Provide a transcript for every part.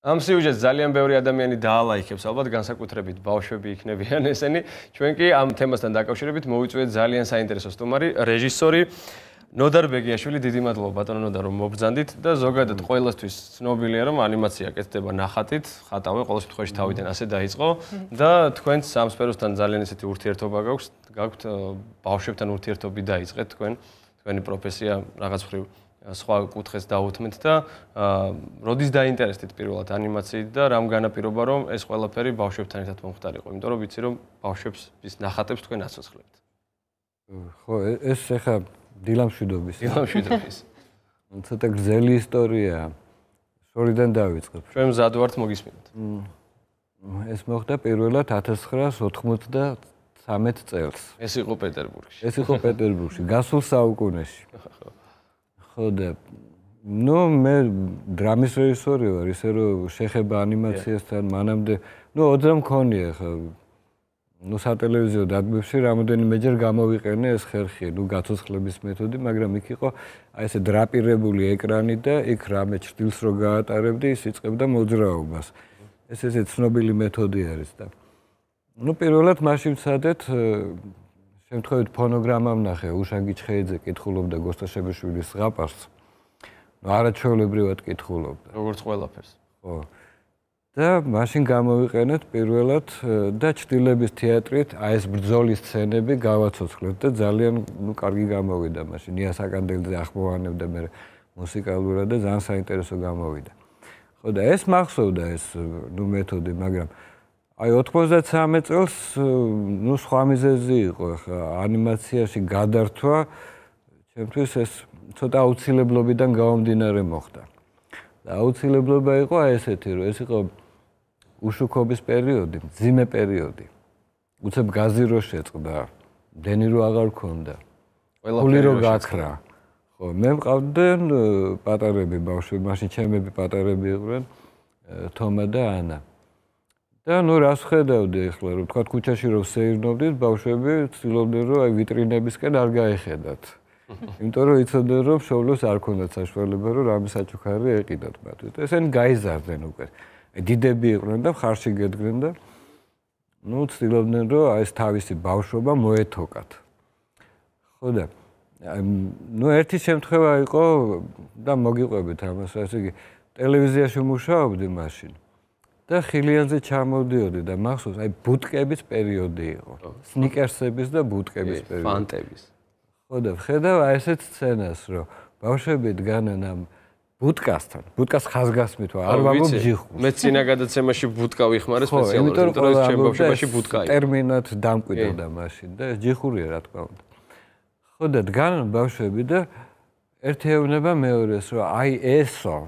ამ სიუჟეტს ძალიან ბევრი ადამიანი დაალაიქებს, ალბათ განსაკუთრებით ბავშვები იქნებიან ესენი. ჩვენ კი ამ თემასთან დაკავშირებით მოვიწვიეთ ძალიან საინტერესო სტუმარი, რეჟისორი ნოდარ ბეგიაშვილი. დიდი მადლობა ბატონო ნოდარ, რომ მობრძანდით და ზოგადად ყველასთვის ცნობილია, რომ ანიმაცია კეთდება ნახატით, ხატავე ყოველ შემთხვევაში თავიდან ასე დაიწყო და თქვენს ამ სფეროსთან ძალიან ესეთი ურთიერთობა გაქვთ, ბავშვებთან ურთიერთობი დაიწყეთ თქვენი პროფესია რაღაც მხრივ სხვა კუთხეს დაუთმეთ და როდის დაინტერესდით პირველად ანიმაციით და რამ განაპირობა რომ ეს ყველაფერი ბავშვებთან ერთად მომხდარიყო, იმიტომ რომ ვიცი რომ ბავშვებს ის ნახატებს თქვენ აცოცხლებთ. ხო, ეს ახლა დილამშვიდობის. დილამშვიდობის. ცოტა გრძელი ისტორიაა. შორიდან დავიწყებ. ჩვენ მზად ვართ მოგისმინოთ. ეს მოხდა პირველად 1993 წელს. ეს იყო პეტერბურგში. ეს იყო პეტერბურგში, გასულ საუკუნეში. ხო და მე დრამის რეჟისორი ვარ, ისე რომ შეხება ანიმაციასთან მანამდე, 20 მქონია ხა. სატელევიზიო დადგმებში რამოდენიმეჯერ გამოვიყენე ეს ხერხი, გაცოცხლების მეთოდი, მაგრამ იქ იყო აი ესე დრაპირებული ეკრანი და იქ რამე ჭრილს რო გაატარებდი, ის იწყებდა მოძრაობას. ეს ესე ცნობილი მეთოდი არის და პირველად მაშინ ვცადეთ შემთხვევით ფონოგრამა ვნახე, უშანგი ჩხეიძე კითხულობდა გოსტაშებაშვილის ზღაპარს. არაჩვეულებრივად კითხულობდა. როგორც ყველაფერს. ხო. და მაშინ გამოვიყენეთ პირველად და ჭრილების თეატრით აი ეს ბრძოლის სცენები გავაცოცხლეთ და ძალიან კარგი გამოვიდა მაშინ. ია საკანდელძე ახმოვანებდა მე მუსიკალურად და ძალიან საინტერესო გამოვიდა. ხო და ეს მახსოვდა ეს მეთოდი, მაგრამ აი 93 წელს სხვა მიზეზი იყო ხა ანიმაციაში გადართვა ჩემთვის ეს ცოტა აუცილებლობიდან გამომდინარე მოხდა. და აუცილებლობა იყო აი ესეთი, რომ ეს იყო უშუქობის პერიოდი, მძიმე პერიოდი. უცებ გაზი რო შეწყდა, დენი რო აღარ ქონდა. ფული რო გაქრა. ხო, მე მყავდნენ პატარები ბავშვები, მაშინ ჩემები პატარები იყვნენ, თომა და ანა. და რას ხედავდი ახლა, რომ თქვა ქუჩაში რომ სეირნობდით, ბავშვები ცდილობდნენ რომ აი ვიტრინებისკენ არ გაეხედათ. იმიტომ რომ იცოდნენ რომ შოვლოს არ ქონდათ საშუალება რომ რამე საჩუქარი ეყიდათ მათ. ესენი გაიზარდნენ უკვე. დიდები იყვნენ და ხარში გედგნენ და ცდილობდნენ რომ აი ეს თავისი ბავშვობა მოეთოკათ. ხო და ერთი შემთხვევა იყო და მოგიყვებით ამას, ასე იგი ტელევიზიაში მუშაობდი მაშინ. და ხილიანზე ჩამოდიოდი და მახსოვს აი ბუტკების პერიოდი იყო. სნიკერსების და ბუტკების პერიოდი. ფანტების. ხო და ვხედავ აი ესეთ სცენას, რომ ბავშვები დგანან ამ ბუტკასთან. ბუტკას ხაზგასმით არ ვამბობ ჯიხურს. მე წინა გადაცემაში ბუტკა ვიხმარე სპეციალურად, იმიტომ რომ ჩემ ბავშვობაში ბუტკა იყო. ტერმინად დამკვიდრდა მაშინ და ჯიხურია რა თქმა უნდა. ხო და დგანან ბავშვები და ერთი ეუბნება მეორეს, რომ აი ესო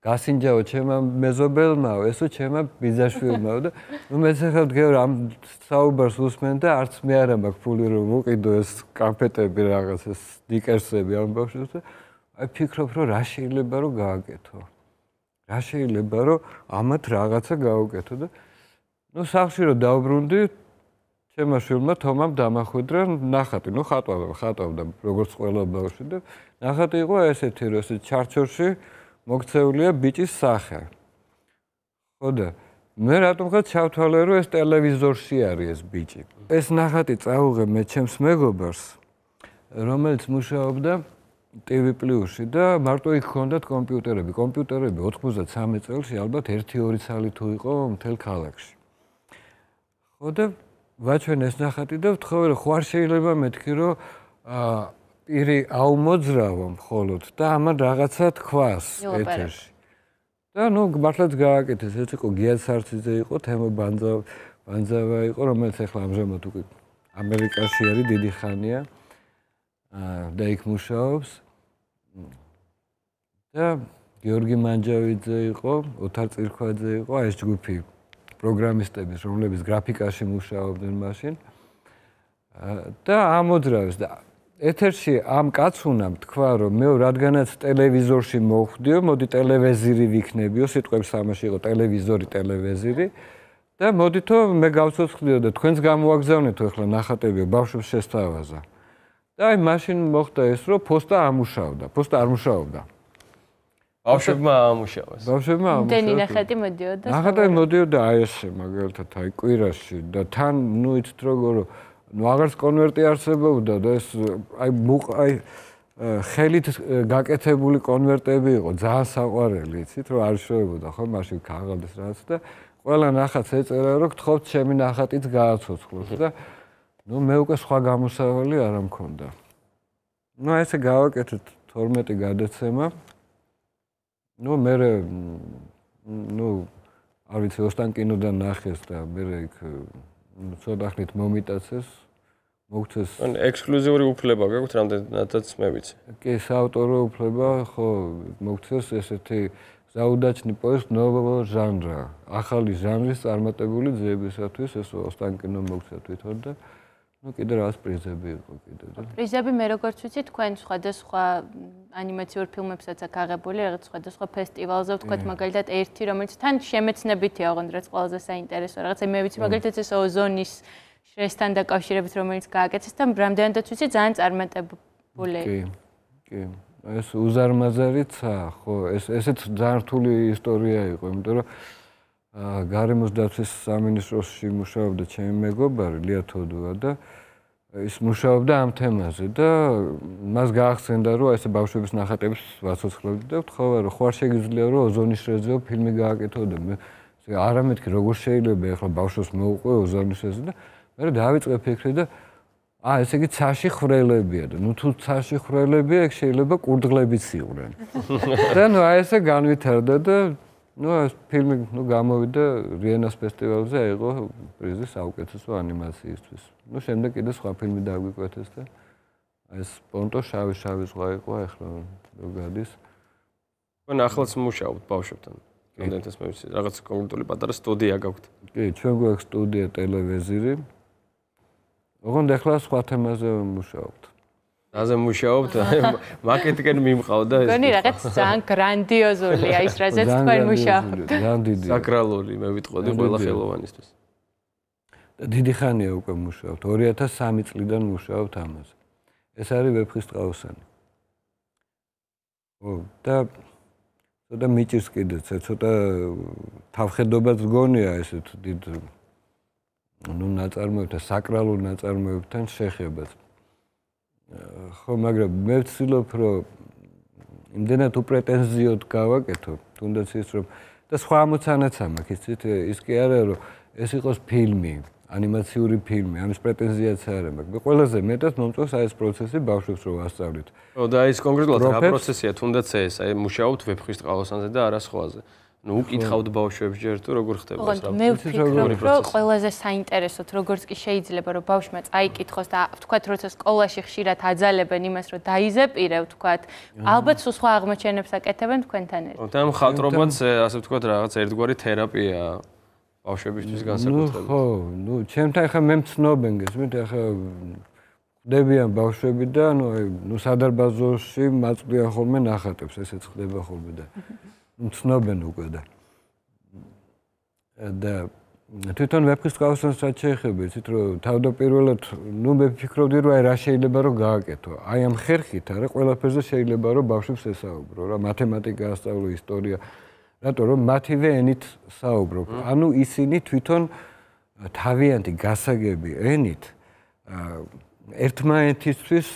გასინჯაო ჩემმა მეზობელმაო, ესო ჩემმა ბიძაშვილმაო და მეც ახლა ვდგევ ამ საუბარს უსმენ და არც მე არა მაქვს ფული რომ ვუყიდო ეს კამფეტები რაღაც ეს სნიკერსები ამ ბავშვებს და აი ფიქრობ რომ რა შეიძლება რომ გააკეთო. რა შეიძლება რომ ამათ რაღაცა გაუკეთო და სახლში რომ დავბრუნდი ჩემმა შვილმა თომამ დამახვედრა ნახატი, ხატავდა როგორც ყველა ბავშვი და ნახატი იყო ესეთი რომ ეს ჩარჩოში მოქცეულია ბიჭის სახე. ხო და მე რატომღა ჩავთვალე რომ ეს ტელევიზორში არის ეს ბიჭი. ეს ნახატი წაუღე მე ჩემს მეგობარს, რომელიც მუშაობდა TV+-ში და მარტო იქ ჰქონდათ კომპიუტერები. კომპიუტერები 93 წელში ალბათ 1-2 ცალი თუ იყო მთელ ქალაქში. ხო და ვაჩვენ ეს ნახატი და ვთხოვე რომ ხوار შეიძლება მეთქი რომ პირი აუმოძრავო მხოლოდ და ამან რაღაცა თქვას ეთერში. და მართლაც გააკეთეს, ეს იყო გია სარციძე იყო, თემო ბანძავა იყო, რომელიც ახლა ამჟამად უკვე ამერიკაში არის დიდი ხანია. და იქ მუშაობს. და გიორგი მანჯავიძე იყო, ოთარ წირქვაძე იყო, აი ეს ჯგუფი პროგრამისტების, რომლებიც გრაფიკაში მუშაობდნენ მაშინ. და ამოძრავეს და ეთერში ამ კაცუნამ თქვა რომ მე რადგანაც ტელევიზორში მოვხვდიო, მოდი ტელევიზორი ვიქნებიო, სიტყვების თამაში იყო ტელევიზორი, ტელევიზორი და მოდითო მე გავცოცხლიო და თქვენს გამოაგზავნეთო ახლა ნახატები ბავშვებს შესთავაზა. და აი მაშინ მოხდა ეს რომ ფოსტა არ მუშაობდა. ბავშვებმა ამუშავეს. ბავშვებმა დენი ნახატი მოდიოდა. ნახატი მოდიოდა აი ესე მაგალითად აი კვირაში და თან ნუ იცით როგორ ნუ აღარც კონვერტი არსებობდა და ეს აი ხელით გაკეთებული კონვერტები იყო ძალიან საყვარელი იცით რომ არ შევებოდა ხო მაშინ ქაღალდის რაც და ყველა ნახატს ეწერა რომ გთხოვთ ჩემი ნახატიც გააცოცხლოს და ნუ მე უკვე სხვა გამოსავალი არ მქონდა. ნუ ესე გავაკეთეთ 12 გადაცემა. ნუ მე ნუ არ ვიცი ოსტანკინოდან ნახეს და მე იქ ცოტა ხნით მომიტაცეს მოგცეს ან ექსკლუზიური უფლება გაქვთ რამდენადაც მე ვიცი. კი საავტორო უფლება ხო მოგცეს ესეთი საუდაჩნი პოესტ ნოვო ჟანრა ახალი ჟანრის წარმატებული ძეებისათვის ეს ოსტანკინო მოგცა თვითონ და ნუ კიდე რას პრიზები იყო კიდე და პრიზები მე როგორც ვიცი თქვენ სხვადასხვა ანიმაციურ ფილმებსაც აქ აღებული რაღაც სხვადასხვა ფესტივალზე ვთქვათ მაგალითად ერთი რომელიც თან შემეცნებითია ოღონდ რაც ყველაზე საინტერესო რაღაცა მე ვიცი მაგალითად ეს ოზონის შრესთან დაკავშირებით რომელიც გააკეთეს და რამდენადაც ვიცი ძალიან წარმატებული კი ეს უზარმაზარიცა ხო ესეც ძალიან რთული ისტორია იყო იმიტომ რომ გარემოს დაცვის სამინისტროში მუშაობდა ჩემი მეგობარი ლია თოდუა და ის მუშაობდა ამ თემაზე და მას გაახსენდა რომ ესე ბავშვების ნახატებს ვაცოცხლებდი და ვთხოვა რომ ხوار შეგიძლია რომ ოზონის შრეზე ფილმი გააკეთო და მე არა მეთქი როგორ შეიძლება ახლა ბავშვს მოუყვე ოზონის შრეზე და მე დავიწყე ფიქრი და ესე იგი ცაში ხრელებია და ნუ თუ ცაში ხრელებია ეგ შეიძლება კურდღლებიც იყვნენ და ნუ ესე განვითარდა და ნუ ეს ფილმი ნუ გამოვიდა რიენას ფესტივალზე აიღო პრიზი საუკეთესო ანიმაციისთვის. ნუ შემდეგ კიდე სხვა ფილმი დაგვიკვეთეს და ეს პონტო შავი ზღვა იყო ახლა რო გადის. თქვენ ახლაც მუშაობთ ბავშვებთან. რამდენადაც მე ვიცი, რაღაც კონკრეტული პატარა სტუდია გაქვთ. კი, ჩვენ გვაქვს სტუდია ტელევიზირი. ოღონდ ახლა სხვა თემაზე მუშაობთ. აზე მუშაობთ, მარკეტინგენ მიმყავდა ეს. გონი რაღაც ძალიან გრანდიოზულია ის რაზეც თქვენ მუშაობთ. ძალიან დიდი. საკრალური მე ვიტყოდი ყველა ხელოვანისთვის. და დიდი ხანია უკვე მუშაობთ. 2003 წლიდან მუშაობთ ამაზე. ეს არის ვეფხისტყაოსანი. და ცოტა მიჭირს კიდეც, ცოტა თავხედობაც გონია ესეთ დიდ ნუ ნაწარმოებთან, საკრალურ ნაწარმოებთან შეხებაც. ხო, მაგრამ მე ვცდილობ, რომ იმდენად უპრეტენზიოდ გავაკეთო, თუნდაც ის რომ და სხვა ამოცანაც მაქვს, იცით, ის კი არა, რომ ეს იყოს ფილმი, ანიმაციური ფილმი, ამის პრეტენზიაც არ მაქვს. მე ყველაზე მეტად მომწონს აი ეს პროცესი ბავშვებს რო ვასწავლით. ხო, და ის კონკრეტულად რა პროცესია, თუნდაც ეს, აი მუშაობთ ვეფხისტყაოსანზე და არა სხვაზე. ნუ უკითხავთ ბავშვებს ჯერ თუ როგორ ხდება ეს რა. მე ვფიქრობ, რომ ყველაზე საინტერესოთ როგორც კი შეიძლება რომ ბავშვმა წაიკითხოს და ვთქვათ, როცა სკოლაში ხშირად აძალებენ იმას, რომ დაიზეპირებ, ვთქვათ, ალბათ სხვა აღმოჩენებს აკეთებენ თქვენთან ერთად. და ამ ხატრობაც ასე ვთქვათ, რაღაც ერთგვარი თერაპია ბავშვებისთვის განსაკუთრებით. ხო, ნუ ჩემთან ხა მე მცნობენ გესმით, ახლა ხდებიან ბავშვები და ნუ სადარბაზოში მაწვდიან ხოლმე ნახატებს, ესეც ხდება ხოლმე და მცნობენ უკვე და თვითონ ვეფხისტყაოსანს რაც შეეხება, იცით რომ თავდაპირველად ნუ მე ვფიქრობდი რომ აი რა შეიძლება რომ გააკეთო. აი ამ ხერხით არა ყველაფერზე შეიძლება რომ ბავშვებს ესაუბრო რა, მათემატიკა ასწავლო, ისტორია, რატო რომ მათივე ენით საუბრობ. ანუ ისინი თვითონ თავიანთი გასაგები ენით ერთმანეთისთვის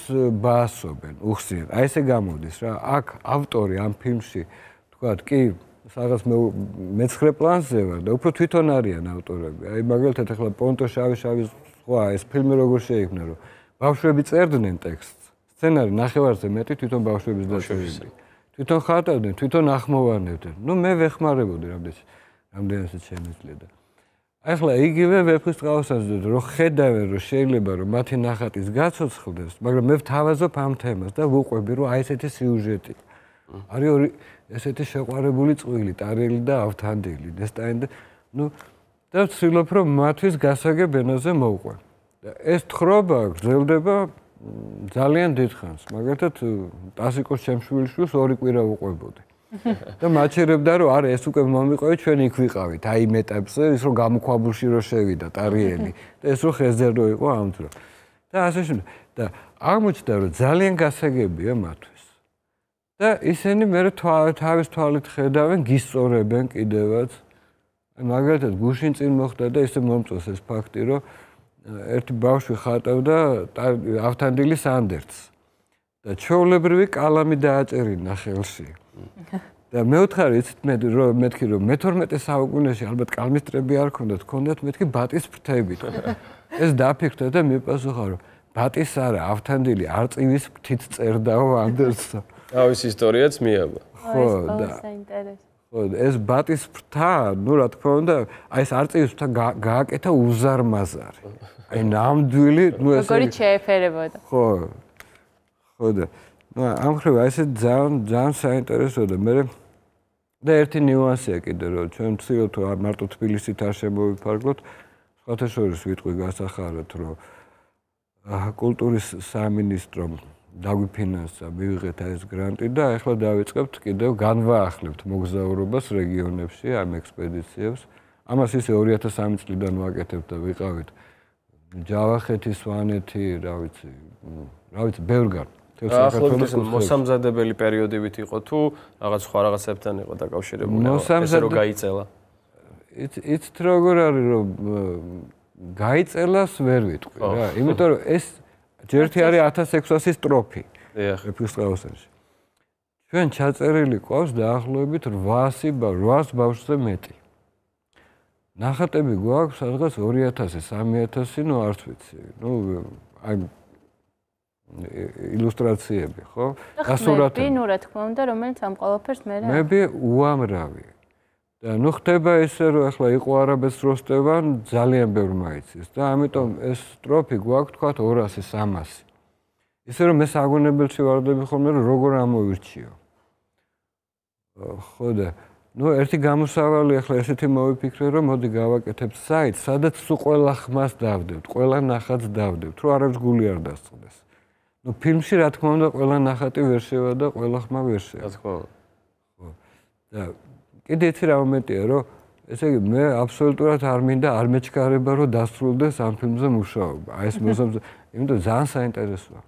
ბაასობენ, უხსნიან. აი ესე გამოდის რა, აქ ავტორი ამ ფილმში ვთქვათ, კი, რაღაც მეცხრე პლანზე ვარ და უფრო თვითონ არიან ავტორები. აი მაგალითად ახლა პონტო შავი ზღვა ეს ფილმი როგორ შეიქმნა, რომ ბავშვები წერდნენ ტექსტს. სცენარი ნახევარზე მეტი თვითონ ბავშვების დაწერილი. თვითონ ხატავდნენ, თვითონ ახმოვანებდნენ. ნუ მე ვეხმარებოდი რამდენადაც შემიძლია და ახლა იგივე ვეფხისტყაოსანზე რომ ხედავენ რომ შეიძლება რომ მათი ნახატის გაცოცხლდეს, მაგრამ მე ვთავაზობ ამ თემას და ვუყვები რომ აი ესეთი სიუჟეტი. არის ორი ესეთი შეყვარებული წვილი, ტარელი და ავთანდილი, ნესტანი და ნუ და ვცდილობ რომ მათთვის გასაგებ ენაზე მოვყვე. და ეს თხრობა გრძელდება ძალიან დიდ ხანს. მაგალითად ტასიკოს ჩემშვილიშვილს 2 კვირა უყვებოდი. და მაჩერებდა რომ არა ეს უკვე მომიყვევი ჩვენ იქ ვიყავით აი იმ ეტაპზე ის რომ გამოქვაბულში რო შევიდა ტარიელი და ეს რო ხეზე რო იყო ამ დრო. და ასე შემდეგ. და აღმოჩნდა რომ ძალიან გასაგებია მათთვის. და ისინი მე თავის თვალით ხედავენ, გისწორებენ კიდევაც. მაგალითად, გუშინ წინ მოხდა და ისე მომწონს ეს ფაქტი, რომ ერთი ბავშვი ხატავდა ავთანდილის ანდერძს და ჩვეულებრივი კალამი დააჭერინა ხელში. და მეუთხარი იცით მეთქი რომ მე-12 საუკუნეში ალბათ კალმისტრები არ ქონდათ, ქონდათ მეთქი ბატის ფრთები. ეს დაფიქრდა და მიპასუხა რომ ბატის არა, ავთანდილი არწივის ფრთით წერდაო ანდერძსა. თავის ისტორიაც მიაბა. ხო, და საინტერესო. ხო, ეს ბატის ფრთა, ნუ რა თქმა უნდა, აი ეს არწივის ფრთა გააკეთა უზარმაზარი. აი ნამდვილი, ნუ ეს როგორი შეეფერებოდა. ხო. ხო და ნუ ამ ხრივ აი ეს ძალიან საინტერესოა და მე და ერთი ნიუანსია კიდე რომ ჩვენ ვცდილობთ მარტო თბილისით არ შემოვიფარგლოთ, სხვათა შორის ვიტყვი გასახარად რომ კულტურის სამინისტრომ დაგვიფინანსა, მივიღეთ ეს გრანტი და ახლა დავიწყებთ კიდევ განვაახლებთ მოგზაურობას რეგიონებში, ამ ექსპედიციებს. ამას ისე 2003 წლიდან ვაკეთებთ და ვიყავით ჯავახეთი, სვანეთი, რა ვიცი, ბევრგან. ახლოს მოსამზადებელი პერიოდებიც იყო თუ რაღაც სხვა რაღაცებთან იყო დაკავშირებული, ესე რომ გაიწელა. იცით როგორ არის რომ გაიწელას ვერ ვიტყვი რა, იმიტომ რომ ეს ჯერთი არის 1600 სტროფი. ეპისტოლაში. ჩვენ ჩაწერილი ყავს დაახლოებით 800 ბავშვზე მეტი. ნახატები გვაქვს სადღაც 2000, 3000, ნუ არც ვიცი. ნუ აი ილუსტრაციები, ხო? დასურათები. ნუ რა თქმა უნდა, რომელიც ამ ყველაფერს მე რა. მე უამრავი. და ნუ ხდება ისე რომ ახლა იყო არაბეთს როსტევან ძალიან ბევრ მაიცის და ამიტომ ეს სტროფი გვაქვს თქვა 200, 300. ისე რომ მე საგონებელში ვარდები ხოლმე რომ როგორ ამოვირჩიო. ხო და ნუ ერთი გამოსავალი ახლა ესეთი მოვიფიქრე რომ მოდი გავაკეთებ საიტს, სადაც სულ ყველა ხმას დავდებთ, ყველა ნახატს დავდებთ, რომ არავის გული არ დასწყდეს. ნუ ფილმში რა თქმა უნდა ყველა ნახატი ვერ შევა და ყველა ხმა ვერ შევა. რა თქმა უნდა. ხო. და კიდე იცი რა მომენტია რომ ესე იგი მე აბსოლუტურად არ მინდა არ მეჩქარება რომ დასრულდეს ამ ფილმზე მუშაობა. აი ეს იმიტომ ძალიან საინტერესოა.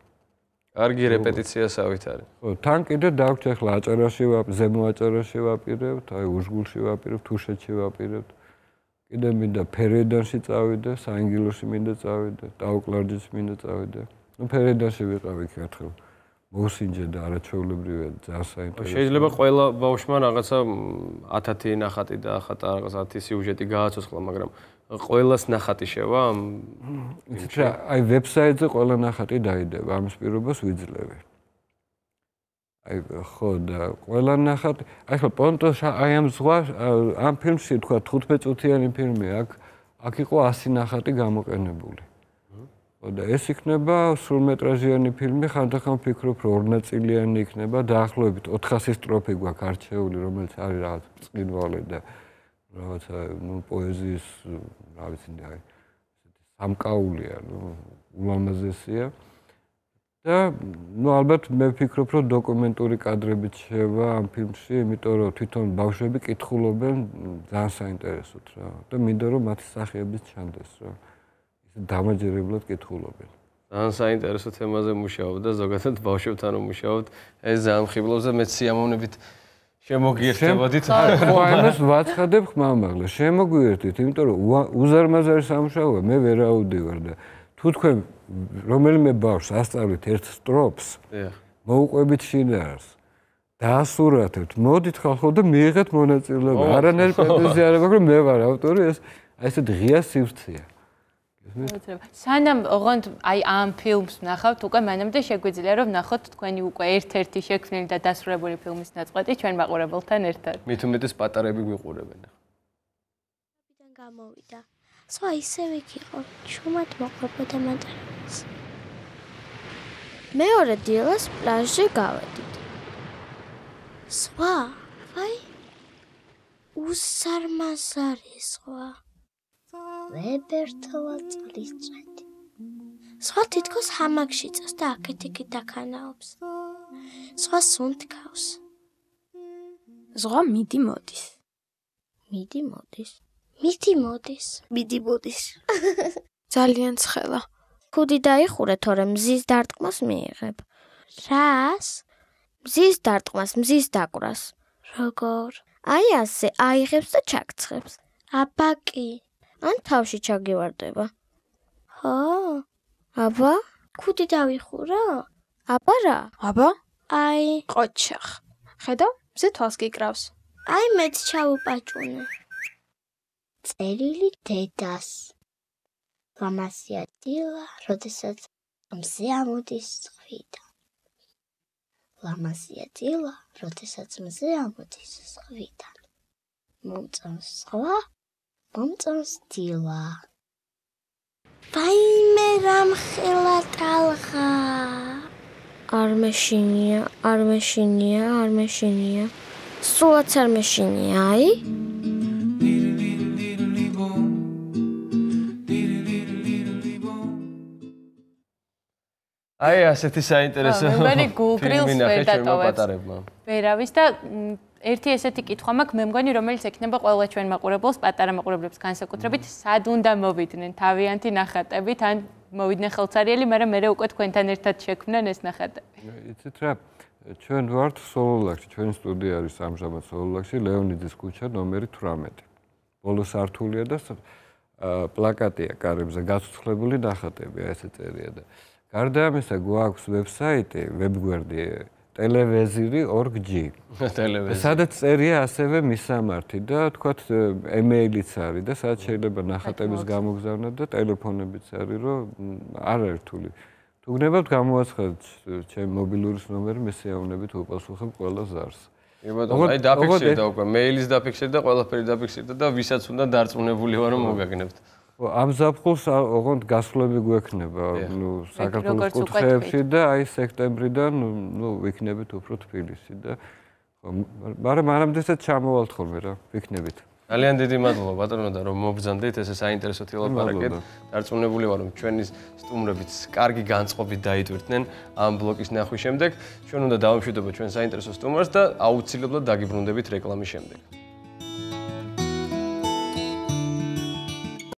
კარგი რეპეტიციასავით არის. ხო, თან კიდე დაგვჭირ ახლა აჭარაში ზემო აჭარაში ვაპირებთ, აი უშგულში ვაპირებთ, თუშეთში ვაპირებთ. კიდე მინდა ფერედანში წავიდე, საინგილოში მინდა წავიდე, ტაუკლარჯეთში მინდა წავიდე. ნუ ფერედანში ვიყავი ერთხელ. მოსინჯე და არაჩვეულებრივია, ძალიან საინტერესოა. შეიძლება ყველა ბავშვმა რაღაცა 1000 ნახატი და ახატა რაღაც 10 სიუჟეტი გააცოცხლა, მაგრამ ყველას ნახატი შევა ამ აი ვებსაიტზე ყველა ნახატი დაიდება, ამის პირობას ვიძლევი. აი ხო და ყველა ნახატი, აი ხო პონტო აი ამ ზღვას ამ ფილმში თქვა 15 წუთიანი ფილმი, აქ იყო 100 ნახატი გამოყენებული. ხო და ეს იქნება სრულმეტრაჟიანი ფილმი, ხანდახან ვფიქრობ, რომ ორნაწილიანი იქნება, დაახლოებით 400 სტროფი გვაქვს არჩეული, რომელიც არის რაღაც ბრწყინვალე და რაღაცა ნუ პოეზიის რა ვიცი აი ესეთი სამკაულია, ნუ ულამაზესია. და ნუ ალბათ მე ვფიქრობ, რომ დოკუმენტური კადრებიც შევა ამ ფილმში, იმიტომ რომ თვითონ ბავშვები კითხულობენ ძალიან საინტერესოდ რა. და მინდა რომ მათი სახეებიც ჩანდეს რა. დამაჯერებლად კითხულობენ. ძალიან საინტერესო თემაზე მუშაობ და ზოგადად ბავშვებთან რომ მუშაობთ, ეს ძალიან ხიბლობს და მეც სიამოვნებით შემოგიერთებოდით. ხო, ამას ვაცხადებ ხმამაღლა, შემოგვიერთდით, იმიტომ რომ უზარმაზარი სამუშაოა, მე ვერ აუდივარ და თუ თქვენ რომელიმე ბავშვს ასწავლით ერთ სტროფს, მოუყვებით შინაარს, დაასურათებთ, მოდით ხალხო და მიიღეთ მონაწილეობა. არანაირი პრეტენზია არ აქვს, რომ მე ვარ ავტორი, ეს აი ესეთ ღია სივრცეა. სანამ ოღონდ აი ამ ფილმს ნახავთ, უკვე მანამდე შეგვიძლია რომ ნახოთ თქვენი უკვე ერთ-ერთი შექმნილი და დასრულებული ფილმის ნაწყვეტი ჩვენ მაყურებელთან ერთად. მით უმეტეს პატარები გვიყურებენ. აბიდან გამოვიდა. სხვა ისევ იქ იყო, ჩუმად მოყვებოდა მატარებელს. მეორე დილას პლაჟზე გავედით. სხვა, ვაი, უზარმაზარი სხვა. ვებერთოა წყლის წვეთი. სხვა თითქოს ჰამაკში წავს და აქეთ-იქით დაქანაობს. სხვა სუნთქავს. ზღვა მიდი მოდის. მიდი მოდის. მიდი მოდის. მიდი მოდის. ძალიან ცხელა. ქუდი დაიხურე, თორემ მზის დარტყმას მიიღებ. რას? მზის დარტყმას, მზის დაკვრას. როგორ? აი ასე, აიღებს და ჩაგცხებს. აბა კი. ან თავში ჩაგივარდება. ხო? აბა? ქუდი დავიხურო? აბა რა? აბა? აი, ყოჩახ. ხედავ? მზე თვალს გიკრავს. აი მეც ჩაუპაჭუნე. წერილი დედას. ლამასია დილა, როდესაც მზე ამოდის ზღვიდან. ლამასია დილა, როდესაც მზე ამოდის ზღვიდან. მომწონს ზღვა, მომწონს დილა. ვაიმე რამ ხელა ტალღა. არ მეშინია. სულაც არ მეშინია, აი? აი ასეთი საინტერესო მე მგონი გულგრილს ვერ დატოვებს. პატარებმა. ვერავის და ერთი ესეთი კითხვა მაქვს, მე მგონი რომელიც ექნება ყველა ჩვენ მაყურებელს, პატარა მაყურებლებს განსაკუთრებით, სად უნდა მოვიდნენ თავიანთი ნახატებით, ან მოვიდნენ ხელცარიელი, მაგრამ მე უკვე თქვენთან ერთად შექმნან ეს ნახატები. იცით რა, ჩვენ ვართ სოლოლაკში, ჩვენი სტუდია არის ამჟამად სოლოლაკში, ლეონიძის ქუჩა ნომერი 18. ბოლო სართულია და პლაკატია კარებზე გაცოცხლებული ნახატები, ესე წერია და გარდა ამისა გვაქვს ვებსაიტი, ვებგვერდი televiziri.org. სადაც წერია ასევე მისამართი და თქვათ ემეილიც არის და სადაც შეიძლება ნახატების გამოგზავნა და ტელეფონებიც არის, რომ არ არის რთული. თუ გნებავთ გამოვაცხადოთ ჩემი მობილურის ნომერი, მე შეავნებით უპასუხებ ყველა ზარს. აი დაფიქსირდა უკვე, მეილის დაფიქსირდა, ყველაფერი დაფიქსირდა და ვისაც უნდა დარწმუნებული ვარ რომ მოგაგნებთ. ამ ზაფხულს ოღონდ გასვლები გვექნება, საქართველოს კუთხეებში და აი სექტემბრიდან ვიქნებით უფრო თბილისში და მაგრამ მანამდესაც ჩამოვალთ ხოლმე რა, ვიქნებით. ძალიან დიდი მადლობა ბატონო და რომ მობრძანდით ესე საინტერესო თილაპარაკეთ. დარწმუნებული ვარ რომ ჩვენი სტუმრებიც კარგი განწყობით დაიტვირთნენ ამ ბლოკის ნახვის შემდეგ. ჩვენ უნდა დავამშვიდობოთ ჩვენ საინტერესო სტუმარს და აუცილებლად დაგიბრუნდებით რეკლამის შემდეგ.